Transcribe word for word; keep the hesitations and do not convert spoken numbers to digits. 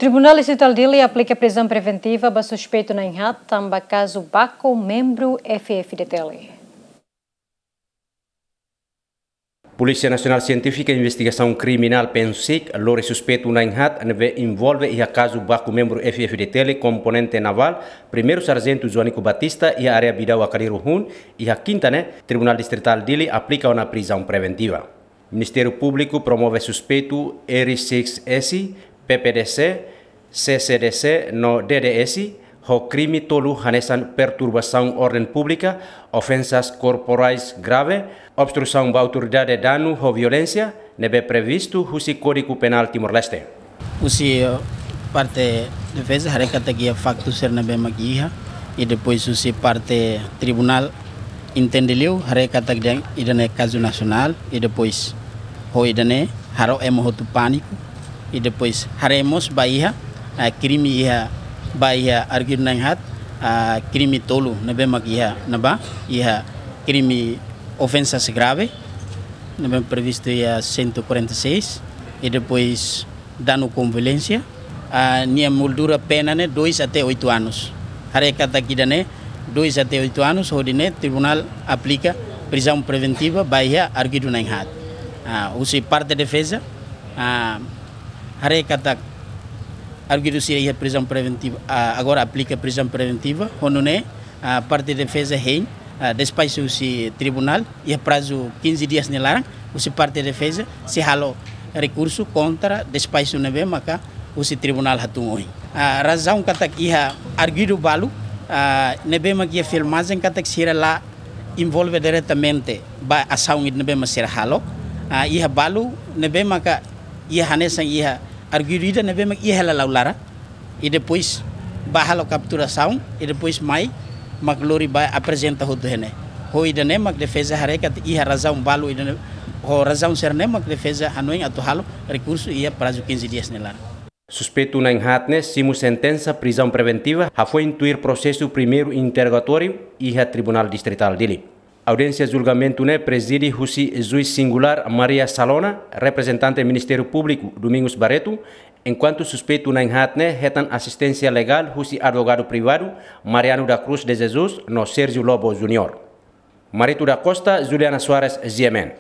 Tribunál Distritál Dili aplika prizaun preventiva ba suspeitu na'in-haat tanba kazu baku membru F F D T L. Polísia Nasionál Sientífika Investigasaun Kriminál, PNSIK, lori suspeitu na'in-haat ne'ebé envolve iha kazu baku membru F F D T L komponente navál, Primeiru Sarjentu Joanico Batista, iha área Bidau Akaliru hun, iha kinta ne'e, Tribunál Distritál Dili aplika ona prizaun preventiva. Ministériu Públiku promove suspeitu R six S, P P D C, C C D C no D D S, ho krime tolu hanesan perturbasaun orden públika, ofensas korporais grave, obstrusaun ba autoridade, danu ho violénsia, ne'ebé previstu husi Kódigu Penál Timor-Leste. Husi, eh, parte defeza haree katak iha faktu sira ne'ebé mak iha, i depois husi parte tribunál entende liu, haree katak dehan ida-ne'e kazu nasionál, i depois ho ida-ne'e halo ema hotu pániku, i depois haree mós ba iha, ah, krime iha, ba iha artigu na'in-haat, ah, krime tolu ne'ebé mak iha, ne'ebá iha krime ofensas grave, ne'ebé previstu iha cento e quarenta e seis, i depois danu com violénsia, ah, nia moldura pena ne'e dois até oito anos. Haree katak ida-ne'e dois até oito anos, hodi ne'e tribunál aplika prizaun preventiva ba iha artigu na'in-haat. Ah, husi parte defeza, ah, haree katak artigu sira iha prizaun preventiva, ah, agora aplika prizaun preventiva, ho nune'e, ah, parte defeza hein, ah, despaxu husi tribunál, iha prazu quinze dias nia laran, husi parte defeza sei halo rekursu kontra despaxu ne'ebé maka husi tribunál hatún ohin. Ah, razaun katak iha artigu balu, ah, ne'ebé mak iha filmajen katak sira la envolve diretamente ba asaun ida ne'ebé mak sira halo. Ah, iha balu ne'ebé maka iha hanesan iha artigu ida ne'ebé mak iha hela la'o laran. I depois ba halo kapturasaun, i depois mai mak lori ba aprezenta hotu iha ne'e. Ho ida-ne'e mak defeza haree katak iha razaun balu ida-ne'e, ho razaun sira-ne'e mak defeza hanoin atu halo rekursu iha prazu quinze dias nia laran. Suspeitu na'in-haat ne'e simu sentensa prizaun preventiva, hafoin tuir prosesu primeiru interrogatóriu iha Tribunál Distritál Dili. Audiénsia julgamentu ne'e prezide husi juís singulár Maria Salona, reprezentante Ministériu Públiku Domingos Barreto, enkuantu suspeitu na'in-haat ne'e hetan asisténsia legál husi advogadu privadu Mariano da Cruz de Jesus no Sérgio Lobo Júnior. Marito da Costa, Juliana Soares, G M N.